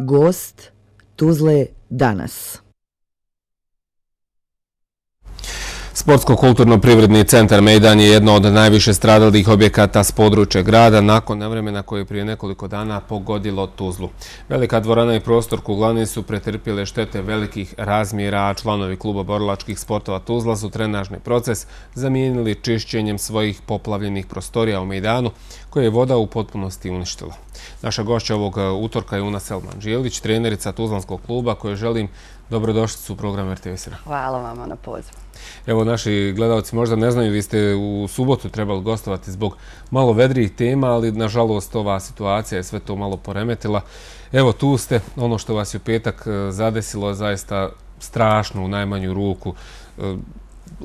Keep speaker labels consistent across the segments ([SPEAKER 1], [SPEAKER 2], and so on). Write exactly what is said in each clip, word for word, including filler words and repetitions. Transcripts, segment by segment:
[SPEAKER 1] Gost Tuzle danas.
[SPEAKER 2] Sportsko-kulturno-privredni centar Mejdan je jedno od najviše stradalih objekata s područja grada nakon nevremena koje je prije nekoliko dana pogodilo Tuzlu. Velika dvorana i prostor Kuglani su pretrpjele štete velikih razmjera, a članovi kluba borilačkih sportova Tuzla su trenažni proces zamijenili čišćenjem svojih poplavljenih prostorija u Mejdanu, koje je voda u potpunosti uništila. Naša gošća ovog utorka je Una Selman-Đelić, trenerica Tuzlanskog kluba, koje želim dobrodošlicu u program R T V S.
[SPEAKER 3] Hvala vama na pozivu.
[SPEAKER 2] Evo, naši gledalci možda ne znaju, vi ste u subotu trebali gostovati zbog malo vedrijih tema, ali nažalost ova situacija je sve to malo poremetila. Evo, tu ste, ono što vas je u petak zadesilo je zaista strašno u najmanju ruku,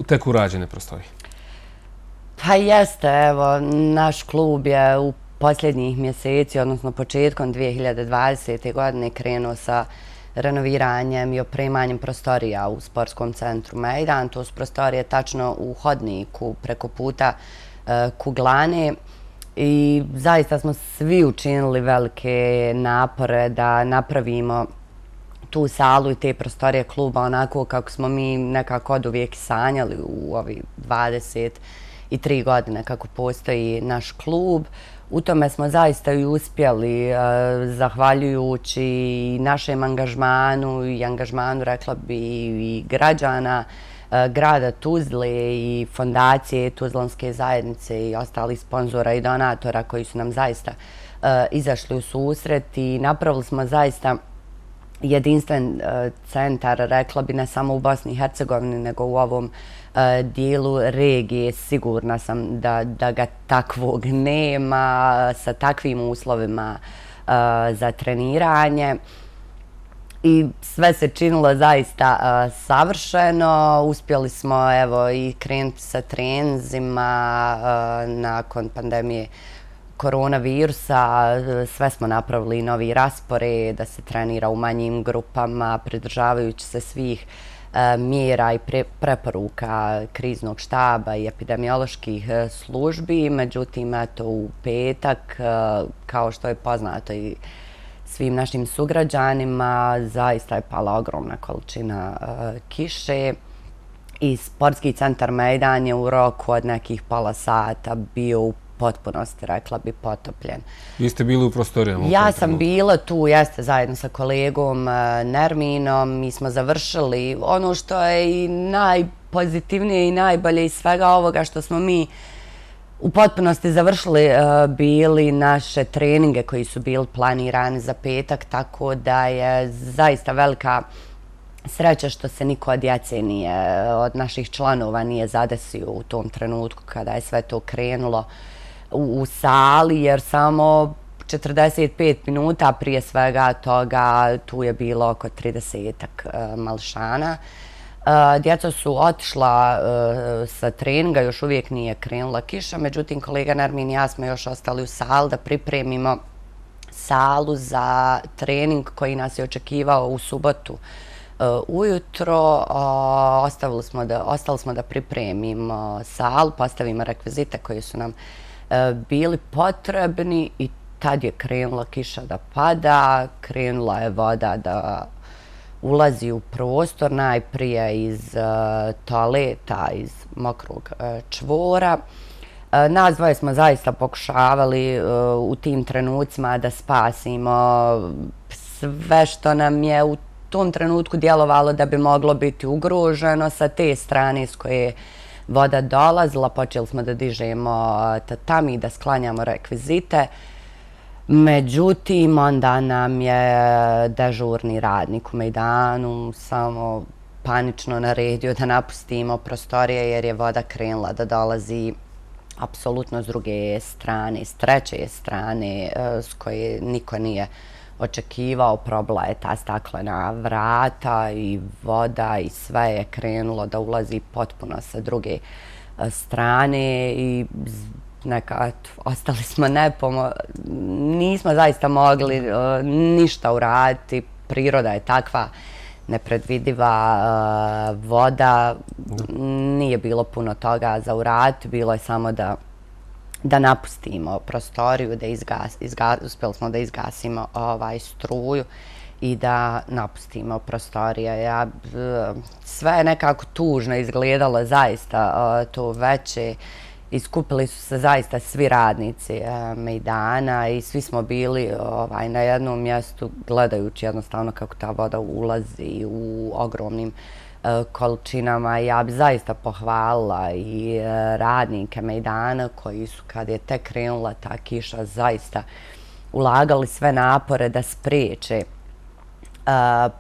[SPEAKER 2] tek urađene prostorije.
[SPEAKER 3] Pa jeste, evo, naš klub je u posljednjih mjeseci, odnosno početkom dvije hiljade dvadesete. godine krenuo sa renoviranjem i opremanjem prostorija u sportskom centru Mejdan. To su prostorije tačno u hodniku preko puta Kuglane i zaista smo svi učinili velike napore da napravimo tu salu i te prostorije kluba onako kako smo mi nekako oduvijek sanjali u ovih dvadeset tri godine kako postoji naš klub. U tome smo zaista i uspjeli, zahvaljujući našem angažmanu i angažmanu, rekla bi, i građana grada Tuzle i fondacije Tuzlanske zajednice i ostalih sponzora i donatora koji su nam zaista izašli u susret i napravili smo zaista jedinstven centar, rekla bi, ne samo u Bosni i Hercegovini, nego u ovom dijelu regije. Sigurna sam da, da ga takvog nema sa takvim uslovima za treniranje. I sve se činilo zaista savršeno. Uspjeli smo evo i krenuti sa treninzima nakon pandemije koronavirusa. Sve smo napravili novi raspored da se trenira u manjim grupama, pridržavajući se svih mjera i preporuka kriznog štaba i epidemioloških službi. Međutim, eto, u petak, kao što je poznato i svim našim sugrađanima, zaista je pala ogromna količina kiše i sportski centar Mejdan je u roku od nekih pola sata bio u potpunosti, rekla bi, potopljen.
[SPEAKER 2] Vi ste bili u prostorijama?
[SPEAKER 3] Ja sam bila tu, jeste, zajedno sa kolegom Nerminom. Mi smo završili ono što je i najpozitivnije i najbolje iz svega ovoga, što smo mi u potpunosti završili bili naše treninge koji su bili planirani za petak, tako da je zaista velika sreća što se niko od djece nije, od naših članova nije zadesio u tom trenutku kada je sve to krenulo u sali, jer samo četrdeset pet minuta prije svega toga tu je bilo oko tridesetak malšana. Djeca su otišla sa treninga, još uvijek nije krenula kiša, međutim kolega Nermin i ja smo još ostali u sali da pripremimo salu za trening koji nas je očekivao u subotu ujutro. Ostali smo da, ostali smo da pripremimo salu, postavimo rekvizite koji su nam bili potrebni i tad je krenula kiša da pada, krenula je voda da ulazi u prostor, najprije iz toaleta, iz mokrog čvora. Nas dvoje smo zaista pokušavali u tim trenucima da spasimo sve što nam je u tom trenutku djelovalo da bi moglo biti ugroženo. Sa te strane s koje voda dolazila, počeli smo da dižemo tatami, da sklanjamo rekvizite. Međutim, onda nam je dežurni radnik u Mejdanu samo panično naredio da napustimo prostorije jer je voda krenula da dolazi apsolutno s druge strane, s treće strane s koje niko nije očekivao. Probila je ta staklena vrata i voda i sve je krenulo da ulazi potpuno sa druge strane i neka, ostali smo nepomo... Nismo zaista mogli ništa uraditi. Priroda je takva nepredvidiva, voda, nije bilo puno toga za uraditi, bilo je samo da da napustimo prostoriju, da izgas, izgas, uspjeli smo da izgasimo ovaj struju i da napustimo prostorije. Ja, sve je nekako tužno izgledalo zaista to veće. Iskupili su se zaista svi radnici mejdana i svi smo bili ovaj, na jednom mjestu gledajući jednostavno kako ta voda ulazi u ogromnim količinama. Ja bi zaista pohvalila i radnike mejdana koji su, kad je tek krenula ta kiša, zaista ulagali sve napore da spriječe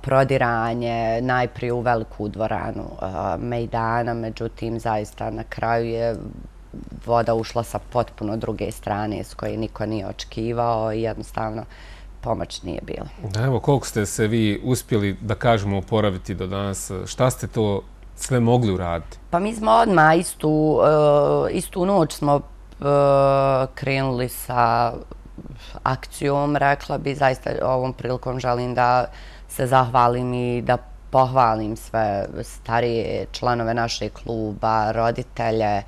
[SPEAKER 3] prodiranje najprije u veliku dvoranu mejdana, međutim zaista na kraju je voda ušla sa potpuno druge strane s koje niko nije očekivao i jednostavno pomoć nije bila.
[SPEAKER 2] Da, evo, koliko ste se vi uspjeli, da kažemo, oporaviti do danas? Šta ste to sve mogli uraditi?
[SPEAKER 3] Pa mi smo odmah istu, istu noć smo krenuli sa akcijom, rekla bi. Zaista ovom prilikom želim da se zahvalim i da pohvalim sve starije članove našeg kluba, roditelje,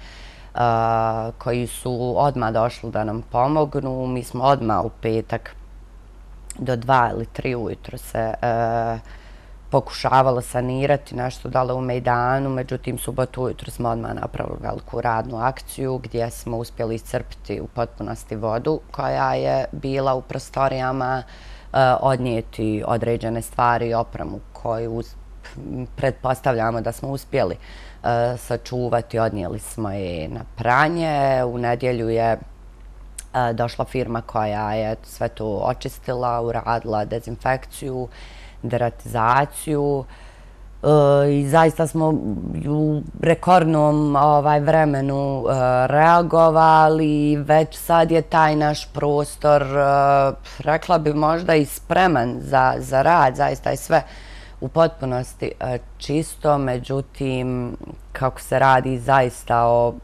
[SPEAKER 3] koji su odmah došli da nam pomognu. Mi smo odmah u petak do dva ili tri ujutro se pokušavalo sanirati nešto dole u mejdanu, međutim subotu ujutro smo odmah napravili veliku radnu akciju gdje smo uspjeli iscrpiti u potpunosti vodu koja je bila u prostorijama, odnijeti određene stvari i opremu koju pretpostavljamo da smo uspjeli sačuvati. Odnijeli smo je na pranje. U nedjelju je došla firma koja je sve to očistila, uradila dezinfekciju, deratizaciju i zaista smo u rekordnom vremenu reagovali. Već sad je taj naš prostor, rekla bi, možda i spreman za rad. Zaista je sve u potpunosti čisto, međutim, kako se radi zaista o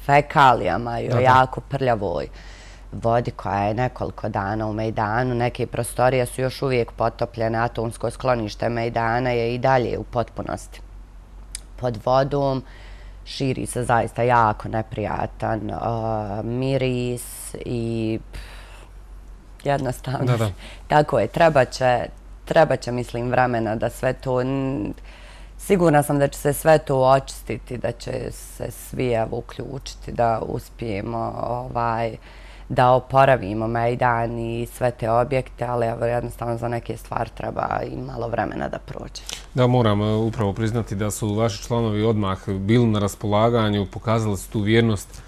[SPEAKER 3] fekalijama i o jako prljavoj vodi koja je nekoliko dana u mejdanu. Neke prostorije su još uvijek potopljene, atomsko sklonište mejdana je i dalje u potpunosti pod vodom. Širi se zaista jako neprijatan miris i jednostavno tako je. Treba će, mislim, vremena da sve to... Sigurna sam da će se sve to očistiti, da će se svi uključiti, da uspijemo da oporavimo mejdan i sve te objekte, ali jednostavno za neke stvari treba i malo vremena da prođe.
[SPEAKER 2] Da, moram upravo priznati da su vaši članovi odmah bili na raspolaganju, pokazali su tu vjernost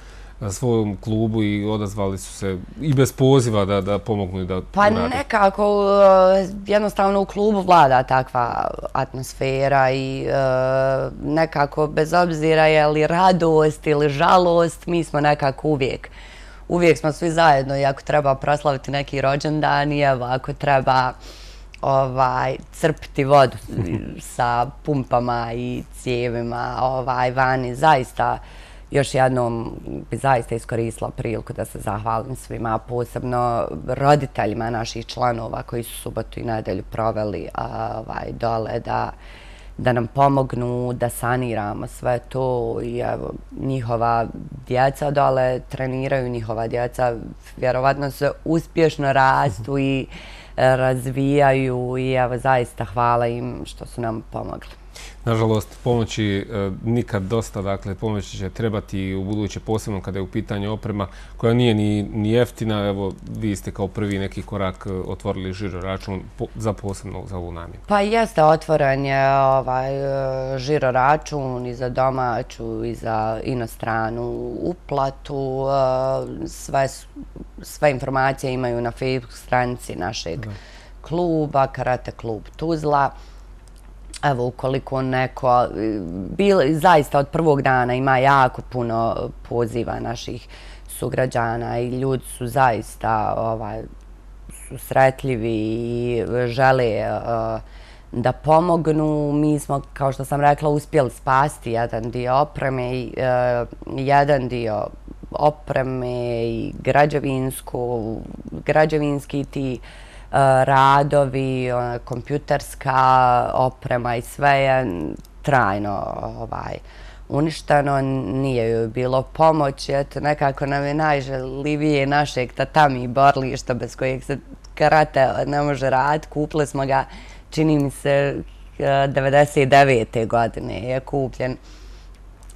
[SPEAKER 2] svojom klubu i odazvali su se i bez poziva da pomognu i da urade.
[SPEAKER 3] Pa nekako, jednostavno u klubu vlada takva atmosfera i nekako bez obzira je li radost ili žalost, mi smo nekako uvijek Uvijek smo svi zajedno i ako treba proslaviti neki rođendan i evo ako treba crpiti vodu sa pumpama i cijevima vani, zaista još jednom bi zaista iskoristila priliku da se zahvalim svima, posebno roditeljima naših članova koji su subotu i nedelju proveli dole da nam pomognu, da saniramo sve to i evo, njihova djeca dole treniraju, njihova djeca vjerovatno se uspješno rastu i razvijaju i evo, zaista hvala im što su nam pomogli.
[SPEAKER 2] Nažalost, pomoći nikad dosta, dakle, pomoći će trebati u buduće, posebno kada je u pitanju oprema koja nije ni jeftina. Evo, vi ste kao prvi neki korak otvorili žiro račun za posebno za ovu namjenu.
[SPEAKER 3] Pa jeste, otvoren je žiro račun i za domaću i za inostranu uplatu. Sve informacije imaju na Facebook stranici našeg kluba, Karate klub Tuzla. Evo, ukoliko neko, zaista od prvog dana ima jako puno poziva naših sugrađana i ljudi su zaista susretljivi i žele da pomognu. Mi smo, kao što sam rekla, uspjeli spasti jedan dio opreme, jedan dio opreme i građevinski ti radovi, kompjuterska oprema i sve je trajno uništeno, nije joj bilo pomoći. Eto, nekako nam je najželivije našeg tatami borilišta bez kojeg se karate ne može raditi. Kupili smo ga, čini mi se, devedeset devete godine je kupljen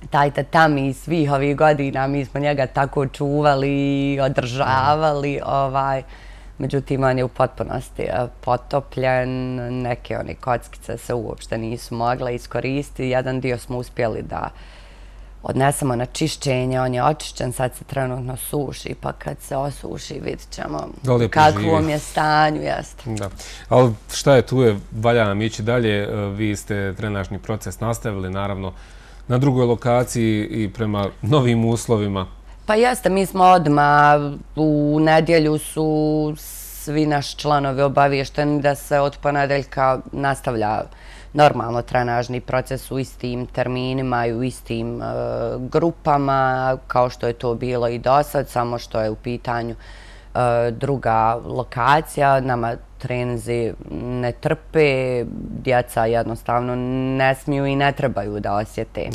[SPEAKER 3] taj tatami svih ovih godina. Mi smo njega tako čuvali i održavali. Ovaj, međutim, on je u potpunosti potopljen. Neke one kockice se uopšte nisu mogle iskoristiti. Jedan dio smo uspjeli da odnesemo na čišćenje. On je očišćen, sad se trenutno suši, pa kad se osuši vidit ćemo u kakvom je stanju. Jeste.
[SPEAKER 2] Da. Ali šta je tu je, valja nam ići dalje. Vi ste trenažni proces nastavili, naravno, na drugoj lokaciji i prema novim uslovima.
[SPEAKER 3] Pa jeste, mi smo odmah, u nedjelju su svi naši članovi obavješteni da se od ponedeljka nastavlja normalno trenažni proces u istim terminima i u istim grupama, kao što je to bilo i do sad, samo što je u pitanju druga lokacija. Nama treninzi ne trpe, djeca jednostavno ne smiju i ne trebaju da osjete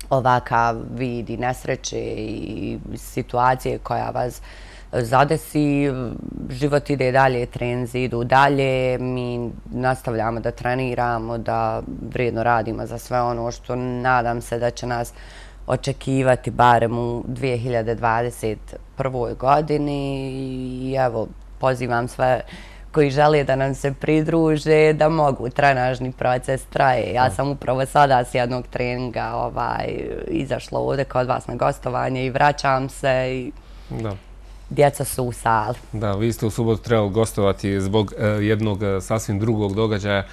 [SPEAKER 3] ovakav vid i nesreće i situacije koja vas zadesi. Život ide dalje, treninzi idu dalje, mi nastavljamo da treniramo, da vrijedno radimo za sve ono što nadam se da će nas očekivati barem u dvije hiljade dvadeset prvoj godini. I evo, pozivam sve koji žele da nam se pridruže, da mogu. Trenažni proces traje. Ja sam upravo sada s jednog treninga ovaj, izašla ovdje kod vas na gostovanje i vraćam se i
[SPEAKER 2] da.
[SPEAKER 3] Djeca su u sali.
[SPEAKER 2] Da, vi ste u subotu trebali gostovati zbog jednog sasvim drugog događaja.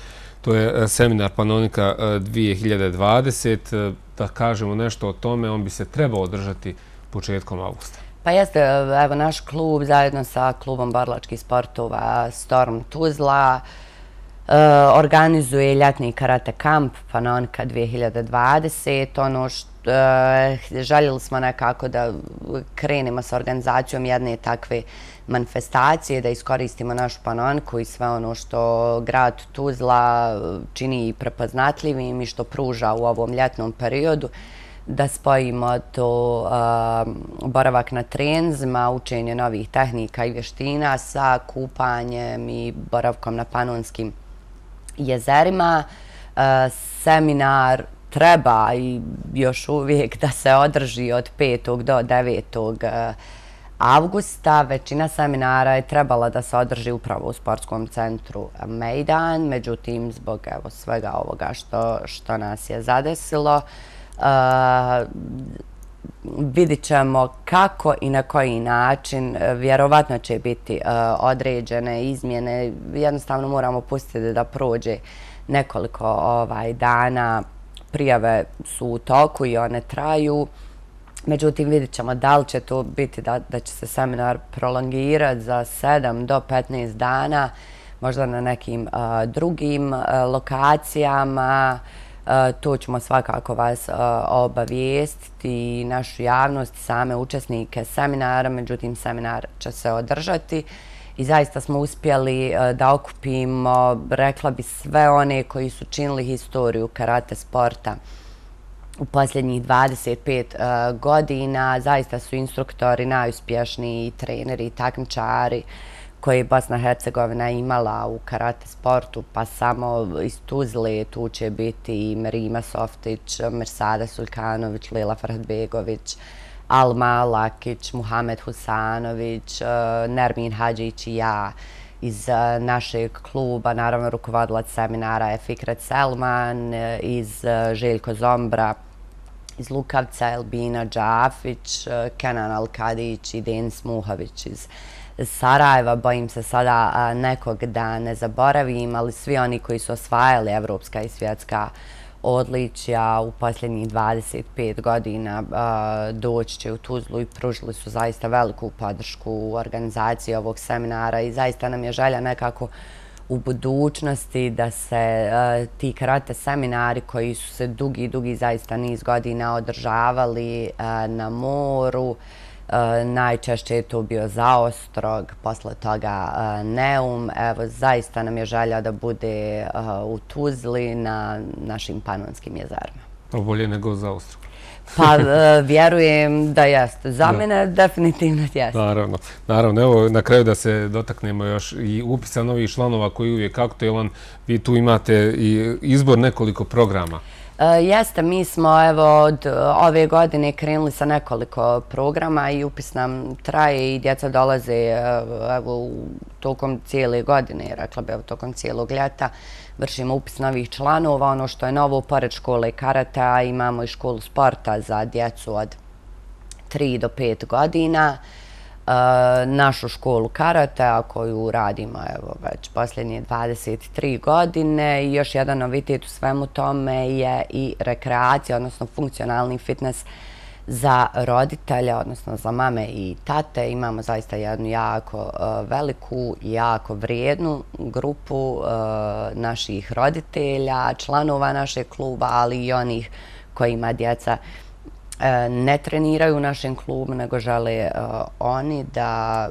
[SPEAKER 2] To je seminar Panonika dvije hiljade dvadeset. Da kažemo nešto o tome, on bi se trebao održati početkom avgusta.
[SPEAKER 3] Pa jeste, evo naš klub zajedno sa klubom borilačkih sportova Storm Tuzla organizuje ljetni karate kamp Panonika dvije hiljade dvadeset. Ono što željeli smo nekako da krenemo sa organizacijom jedne takve manifestacije, da iskoristimo našu Panoniku i sve ono što grad Tuzla čini prepoznatljivim i što pruža u ovom ljetnom periodu, da spojimo to boravak na treninzima, učenje novih tehnika i vještina sa kupanjem i boravkom na panonskim jezerima. Seminar treba i još uvijek da se održi od petog do devetog avgusta. Većina seminara je trebala da se održi upravo u sportskom centru Mejdan, međutim, zbog evo, svega ovoga što, što nas je zadesilo, Uh, vidit ćemo kako i na koji način. Vjerovatno će biti uh, određene izmjene. Jednostavno moramo pustiti da prođe nekoliko ovaj, dana. Prijave su u toku i one traju. Međutim, vidit ćemo da li će to biti da, da će se seminar prolongirati za sedam do petnaest dana, možda na nekim uh, drugim uh, lokacijama. To ćemo svakako vas obavijestiti i našu javnost, same učesnike seminara. Međutim, seminar će se održati i zaista smo uspjeli da okupimo, rekla bi, sve one koji su činili historiju karate sporta u posljednjih dvadeset pet godina. Zaista su instruktori najuspješniji, treneri i takmičari koje je Bosna i Hercegovina imala u karate sportu, pa samo iz Tuzle tu će biti i Merima Softić, Mirsada Sulkanović, Lila Farhadbegović, Alma Lakić, Muhamed Husanović, Nermin Hadžić i ja iz našeg kluba. Naravno, rukovodilac seminara je Fikret Selman, iz Željko Zombra, iz Lukavca Elbina Džafić, Kenan Alkadić i Denis Muhović iz Sarajeva. Bojim se sada nekog da ne zaboravim, ali svi oni koji su osvajali evropska i svjetska odličja u posljednjih dvadeset pet godina doći će u Tuzlu i pružili su zaista veliku podršku u organizaciji ovog seminara i zaista nam je želja nekako u budućnosti da se ti karate seminari koji su se dugi, dugi zaista niz godina održavali na moru. Najčešće je to bio Zaostrog, posle toga Neum. Evo, zaista nam je želja da bude u Tuzli na našim panonskim jezerima.
[SPEAKER 2] Bolje nego za Austru.
[SPEAKER 3] Pa vjerujem da jeste. Za mene definitivno jeste.
[SPEAKER 2] Naravno. Naravno. Evo na kraju da se dotaknemo još i upisa novih članova koji je uvijek aktualan. Vi tu imate i izbor nekoliko programa.
[SPEAKER 3] Jeste, mi smo evo od ove godine krenuli sa nekoliko programa i upis nam traje i djeca dolaze evo tokom cijele godine, rekla bi evo tokom cijelog ljeta. Vršimo upis novih članova. Ono što je novo, pored škole karata, imamo i školu sporta za djecu od tri do pet godina. Našu školu karata koju radimo evo već posljednje dvadeset tri godine i još jedan novitet u svemu tome je i rekreacija, odnosno funkcionalni fitness za roditelja, odnosno za mame i tate. Imamo zaista jednu jako veliku i jako vrijednu grupu naših roditelja, članova našeg kluba, ali i onih kojima djeca ne treniraju u našem klubu, nego žele oni da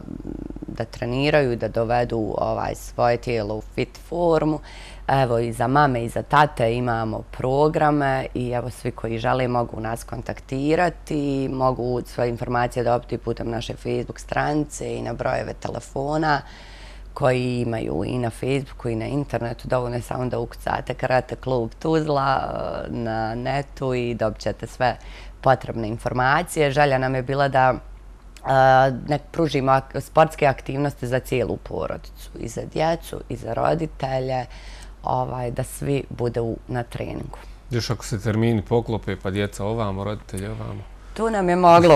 [SPEAKER 3] da treniraju, da dovedu svoje tijelo u fit formu. Evo i za mame i za tate imamo programe i evo svi koji žele mogu nas kontaktirati, mogu svoje informacije dobiti putem naše Facebook stranice i na brojeve telefona koji imaju i na Facebooku i na internetu. Dovoljno je samo da ukucate Karate klub Tuzla na netu i dobit ćete sve potrebne informacije. Želja nam je bila da nek pružimo sportske aktivnosti za cijelu porodicu, i za djecu, i za roditelje, da svi budu na treningu.
[SPEAKER 2] Još ako se termini poklope, pa djeca ovamo, roditelji ovamo?
[SPEAKER 3] Tu nam je moglo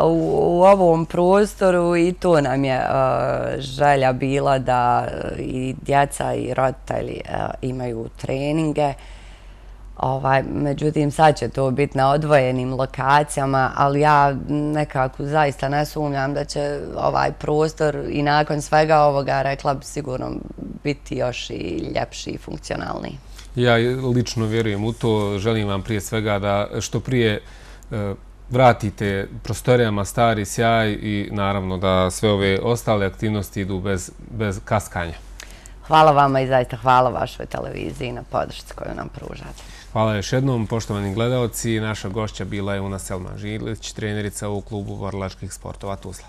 [SPEAKER 3] u ovom prostoru i tu nam je želja bila da i djeca i roditelji imaju treninge. Međutim, sad će to biti na odvojenim lokacijama, ali ja nekako zaista ne sumnjam da će ovaj prostor i nakon svega ovoga, rekla bi, sigurno biti još i ljepši i funkcionalniji.
[SPEAKER 2] Ja lično vjerujem u to. Želim vam prije svega da što prije vratite prostorijama stari sjaj i naravno da sve ove ostale aktivnosti idu bez kaskanja.
[SPEAKER 3] Hvala vama i zaista hvala vašoj televiziji na podršci koju nam pružate.
[SPEAKER 2] Hvala još jednom, poštovani gledalci. Naša gošća bila je Una Selman Žilić, trenerica u klubu borilačkih sportova Tuzla.